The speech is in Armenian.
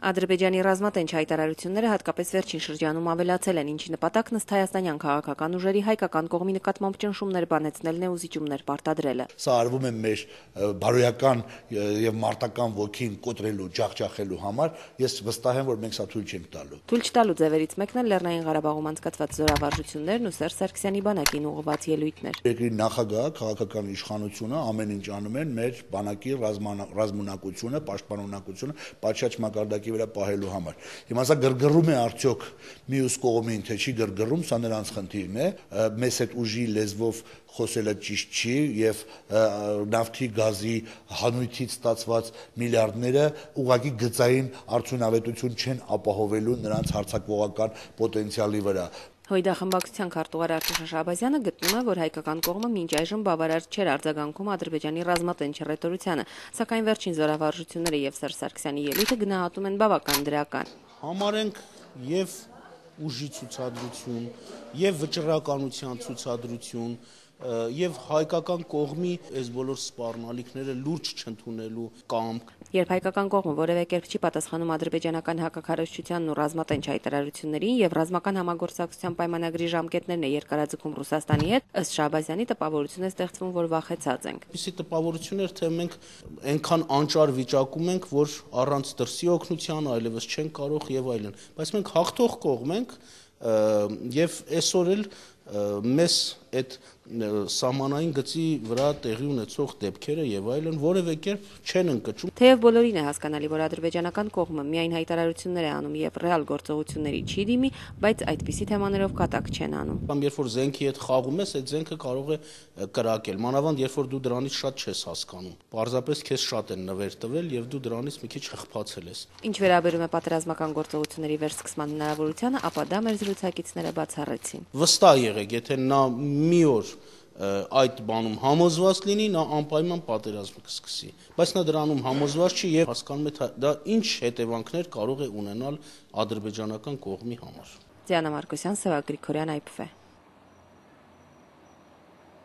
Ադրբեջանի ռազմատենչ հայտարարությունները հատկապես վերջին շրջանում ավելացել են, ինչի նպատակն ըստ հայաստանյան քաղաքական ուժերի հայկական կողմի նկատմամբ ճնշումներ բանեցնելն է ու զիջումներ պարտադրելը։ Սա արվում է մեր բարոյական եւ մարտական ոգին կոտրելու, ջախջախելու համար, ես վստահ եմ, որ մենք սա թույլ չենք տալու։ Թույլ չտալու ձևերից մեկն էլ Լեռնային Ղարաբաղում անցկացված զորավարժություններն ու Սերժ Սարգսյանի բանակին ուղղված ելույթներ։ Երկրի նախագահը, քաղաքական իշխանությունը ամեն ինչ անում են մեր բանակի ռազմունակությունը, պաշտպանունակությունը պատշաճ մակարդակի վրա պահելու համար։ Հիմա սա գրգռում է արդյոք մյուս կողմին, թե չի գրգռում, սա նրանց խնդիրն է։ Մեզ այդ ուժի լեզվով խոսելը ճիշտ չի եւ նավթի գազի հանույթից ստացված միլիարդները ուղղակի գծային արդյունավետություն չեն ապահովելու նրանց հարձակողական պոտենցիալի վրա։ Հույդա խմբակցության քարտուղար Արտուշ Շահբազյանը գտնում է, որ հայկական կողմը մինչ այժմ բավարար չէր արձագանքում Ադրբեջանի ռազմատենչ ռետորությանը, սակայն վերջին զորավարժությունները եւ Սերժ Սարգսյանի ելույթը գնահատում են բավական դրական։ Համարենք եւ ուժի ցուցադրություն, եւ վճռականության ցուցադրություն, եւ հայկական կողմի այս բոլոր սպառնալիքները լուրջ չընդունելու կամք։ Երբ հայկական կողմը որևէ կերպ չի պատասխանում ադրբեջանական հակաքարոզչությանն ու ռազմատենչ հայտարարություններին եւ ռազմական համագործակցության պայմանագրի ժամկետներն է երկարաձգում Ռուսաստանի հետ, ըստ Շահբազյանի տպավորություն է ստեղծվում, որ վախեցած ենք։ Իսկ տպավորություններ, թե մենք այնքան անճար վիճակում ենք, որ առանց դրսի օգնության այլևս չենք կարող եւ այլն։ Բայց մենք հաղթող կողմ ենք եւ այսօր էլ մեզ այդ սահմանային գծի վրա տեղի ունեցող դեպքերը եւ այլն որևէ կերպ չեն ընկճում։ Թեև բոլորին է հասկանալի, որ ադրբեջանական կողմը միայն հայտարարություններ է անում եւ ռեալ գործողությունների չի դիմի, բայց այդպիսի թեմաներով կատակ չեն անում։ Կամ երբ որ զենքի հետ խաղում ես, այդ զենքը կարող է կրակել, մանավանդ երբ որ դու դրանից շատ չես հասկանում։ Պարզապես քեզ շատ են նվեր տվել եւ դու դրանից մի քիչ խփացել ես։ Ինչ վերաբերում է պատերազմական գործողությունների վերսկսման հնարավորությանը, ապա դա մեր զրուցակիցները բացառեցին։ Վստահ եղեք, եթե նա մի օր այդ բանում համոզված լինի, նա անպայման պատերազմ կսկսի, բայց նա դրանում համոզված չի եւ հասկանում է դա ինչ հետևանքներ կարող է ունենալ ադրբեջանական կողմի համար։ Դիանա Մարկոսյան, Սևակ Գրիգորյան, IPV